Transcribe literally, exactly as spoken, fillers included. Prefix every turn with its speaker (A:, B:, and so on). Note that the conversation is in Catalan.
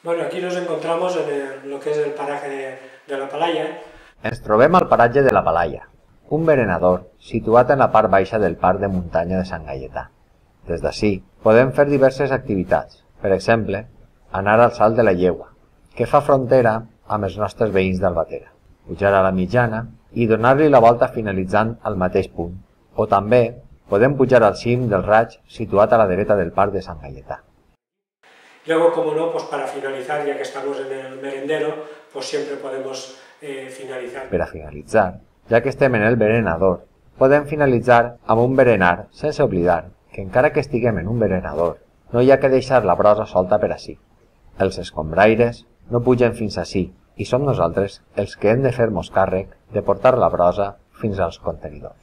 A: Bueno, aquí nos encontramos en el- lo que es el paraje de, de la Palaya.
B: Ens trobem al paratge de la Palaya, un berenador situat en la part baixa del parc de muntanya de Sant Gaietà. Des d'ací podem fer diverses activitats, per exemple, anar al Salt de la Llegua, que fa frontera amb els nostres veïns d'Albatera, pujar a la Mitjana i donar-li la volta finalitzant al mateix punt, o també podem pujar al cim del Raig situat a la dreta del parc de Sant Gaietà.
A: Luego, como no, pues para finalizar, ya que estamos en el merendero, pues siempre podemos eh, finalizar.
B: Per a finalitzar, ja que estem en el berenador, podem finalitzar amb un berenar sense oblidar que encara que estiguem en un berenador, no hi ha que deixar la brossa solta per ací. Els escombraires no pugen fins ací i som nosaltres els que hem de fer-nos càrrec de portar la brossa fins als contenidors.